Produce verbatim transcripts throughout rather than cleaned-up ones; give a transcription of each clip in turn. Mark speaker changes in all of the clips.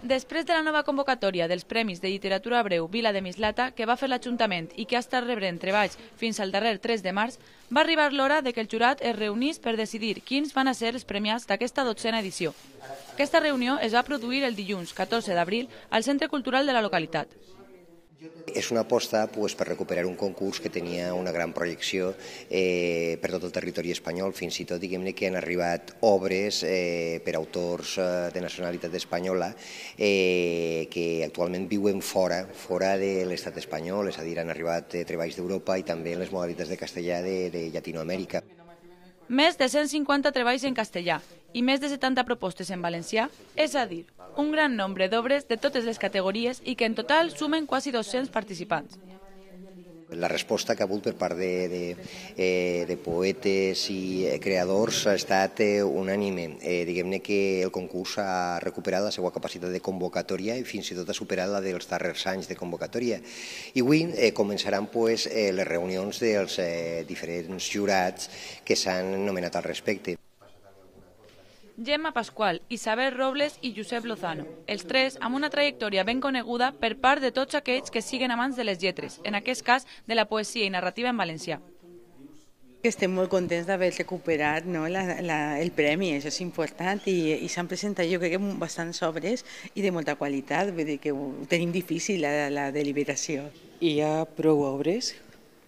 Speaker 1: Després de la nova convocatòria dels Premis de Literatura Breu Vila de Mislata, que va fer l'Ajuntament i que ha estat rebrent treballs fins al darrer tres de març, va arribar l'hora de que el jurat es reunís per decidir quins van a ser els premiats d'aquesta dotzena edició. Aquesta reunió es va produir el dilluns catorze d'abril al Centre Cultural de la localitat.
Speaker 2: És una aposta pues, per recuperar un concurs que tenia una gran projecció eh, per tot el territori espanyol, fins i tot diguem-ne que han arribat obres eh, per autors eh, de nacionalitat espanyola eh, que actualment viuen fora, fora de l'estat espanyol, és a dir, han arribat eh, treballs d'Europa i també en les modalitats de castellà de, de Llatinoamèrica.
Speaker 1: Més de cent cinquanta treballs en castellà i més de setanta propostes en valencià, és a dir, un gran nombre d'obres de totes les categories i que en total sumen quasi dos-cents participants.
Speaker 2: La resposta que ha hagut per part de, de, eh, de poetes i creadors ha estat eh, unànime. Eh, Diguem-ne que el concurs ha recuperat la seva capacitat de convocatòria i fins i tot ha superat la dels darrers anys de convocatòria. I avui eh, començaran pues, eh, les reunions dels eh, diferents jurats que s'han nomenat al respecte.
Speaker 1: Gemma Pasqual, Isabel Robles i Josep Lozano, els tres amb una trajectòria ben coneguda per part de tots aquells que siguen amants de les lletres, en aquest cas de la poesia i narrativa en valencià.
Speaker 3: Estem molt contents d'haver recuperat no, la, la, el premi, això és important, i, i s'han presentat jo crec que bastants obres i de molta qualitat, vull dir que ho tenim difícil la, la deliberació.
Speaker 4: Hi ha prou obres,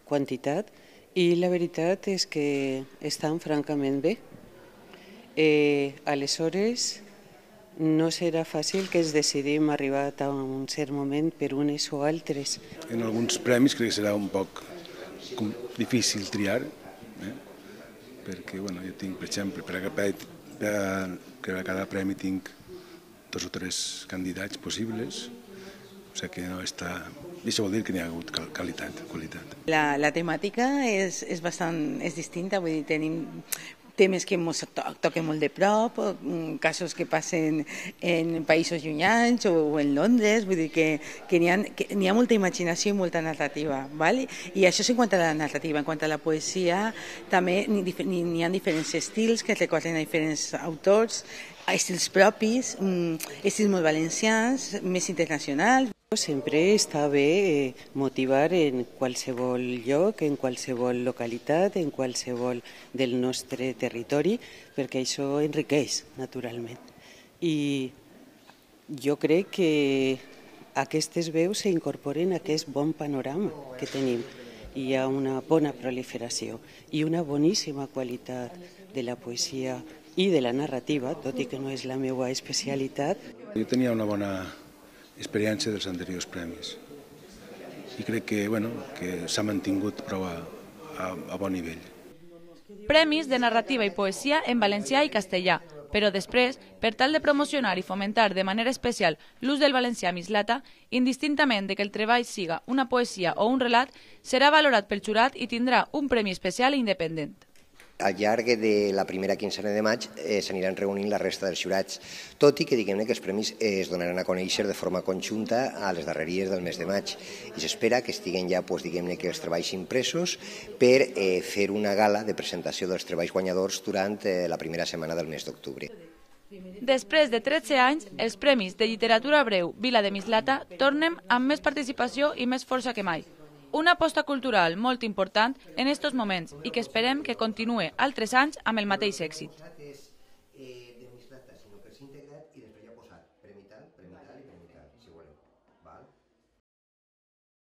Speaker 4: quantitat, i la veritat és que estan francament bé. Eh, aleshores, no serà fàcil que es decidim arribar a un cert moment per unes o altres.
Speaker 5: En alguns premis crec que serà un poc difícil triar, eh? perquè bueno, jo tinc, per exemple, per a, per a, per a cada premi tinc dos o tres candidats possibles, o sigui que no està... I això vol dir que n'hi ha hagut qualitat. qualitat.
Speaker 3: La, la temàtica és, és bastant és distinta, vull dir, tenim temes que ens toquen molt de prop, casos que passen en països llunyans o en Londres, vull dir que, que n'hi ha, ha molta imaginació i molta narrativa. ¿vale? I això és en quant a la narrativa. En quant a la poesia, també n'hi ha diferents estils que recorden a diferents autors, estils propis, estils molt valencians, més internacionals.
Speaker 4: Sempre està bé motivar en qualsevol lloc, en qualsevol localitat, en qualsevol del nostre territori, perquè això enriqueix, naturalment. I jo crec que aquestes veus s'incorporen a aquest bon panorama que tenim. Hi ha una bona proliferació i una boníssima qualitat de la poesia i de la narrativa, tot i que no és la meva especialitat.
Speaker 5: Jo tenia una bona experiència dels anteriors premis i crec que, bueno, que s'ha mantingut prou a, a, a bon nivell.
Speaker 1: Premis de narrativa i poesia en valencià i castellà, però després, per tal de promocionar i fomentar de manera especial l'ús del valencià a Mislata, indistintament de que el treball siga una poesia o un relat, serà valorat pel jurat i tindrà un premi especial i independent.
Speaker 2: Al llarg de la primera quinzena de maig eh, s'aniran reunint la resta dels jurats, tot i que diguem-ne que els premis es donaran a conèixer de forma conjunta a les darreries del mes de maig. I s'espera que estiguen ja pues, diguem-ne que els treballs impresos per eh, fer una gala de presentació dels treballs guanyadors durant eh, la primera setmana del mes d'octubre.
Speaker 1: Després de tretze anys, els Premis de Literatura Breu Vila de Mislata tornen amb més participació i més força que mai. Una aposta cultural molt important en estos moments i que esperem que continuï altres anys amb el mateix èxit.